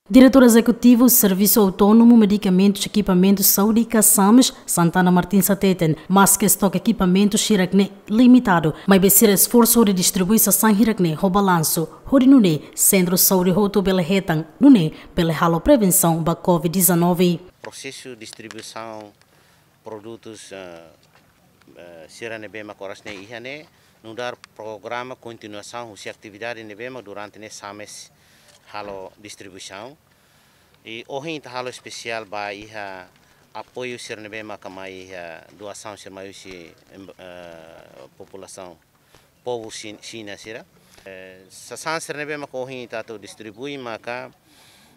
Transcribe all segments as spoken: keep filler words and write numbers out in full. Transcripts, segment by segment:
Diretór Ezekutivu Servisu Autónomu Medikamentus Ekipamentus Saúde ka SAMES, Santana Martins hateten, maske estoke ekipamentu sira-ne'e limitadu, maibé sira esforsu hodi distribui sasán hirak-ne'e ho balansu, hodi nune'e sentru saúde hotu bele hetan, nune'e bele halo prevensaun ba COVID dezanove. Prosesu distribuisaun produtus, eh, eh, sira ne'ebé mak oras ne'e iha ne'e, nu'udar programa kontinuasaun husi atividade ne'ebé mak durante ne'e SAMES halo distribuisaun. I ohin ita halo espesiál ba iha apoiu sira ne'ebé maka mai iha doasaun sira mai husi, em, eh, populasaun povu Xin-, Xina sira. Eh, sasán sira ne'ebé maka ohin ita atu distribui maka,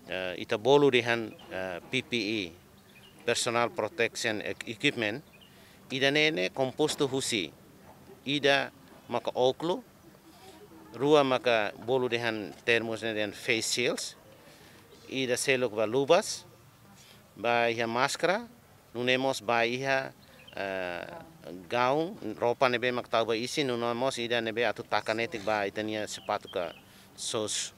eh, ita bolu dehan, eh, P P E, Personal Protection Eq-, Equipment, ida-ne'e ne'e kompostu husi, ida maka ókulu, rua maka bolu dehan termus ne'e dehan face shields, ida seluk ba luvas, ba iha máskara, nune'e mós ba iha, eh, gaun, roupa ne'ebé mak tau ba isin, nune'e mós ida ne'ebé atu taka netik ba ita-nia sapatu ka soos.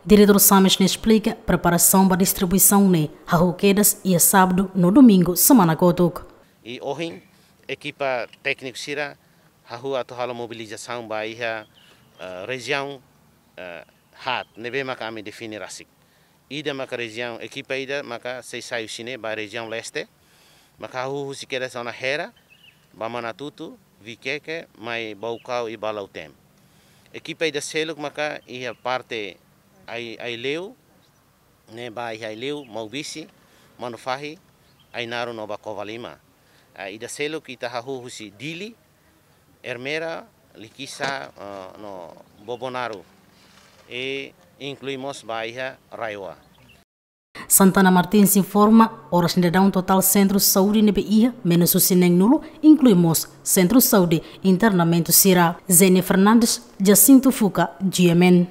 Diretór SAMES ne'e esplika preparasaun ba distribuisaun ne'e hahú kedas iha sábadu no domingu semana kotuk. I ohin ekipa tékniku sira hahú atu halo mobilizasaun ba iha, eh, rejiaun, eh, haat ne'ebé maka ami define rasik. Ida maka rejiaun, ekipa ida maka sei sai husi ne'e ba rejiaun leste, maka hahú husi kedas ona Hera, ba Manatutu, Vikeke, mai Baucau i ba Lautem. Ekipa ida seluk maka iha parte Ai-, Aileu, ne'e ba iha Aileu, Maubisse, Manufahi, Ainaro no ba Covalima. Ah, ida seluk ita hahú husi Dili, Ermera, Likisá, eh, no Bobonaro. I inklui mós ba iha RAEOA. Santana Martins informa, oras ne'e daudaun totál sentru saúde ne'ebé iha menus husi neenulu, inklui mós sentru saúde internamentu sira. Zenia Fernandes, Jacinto Fuca, G M N.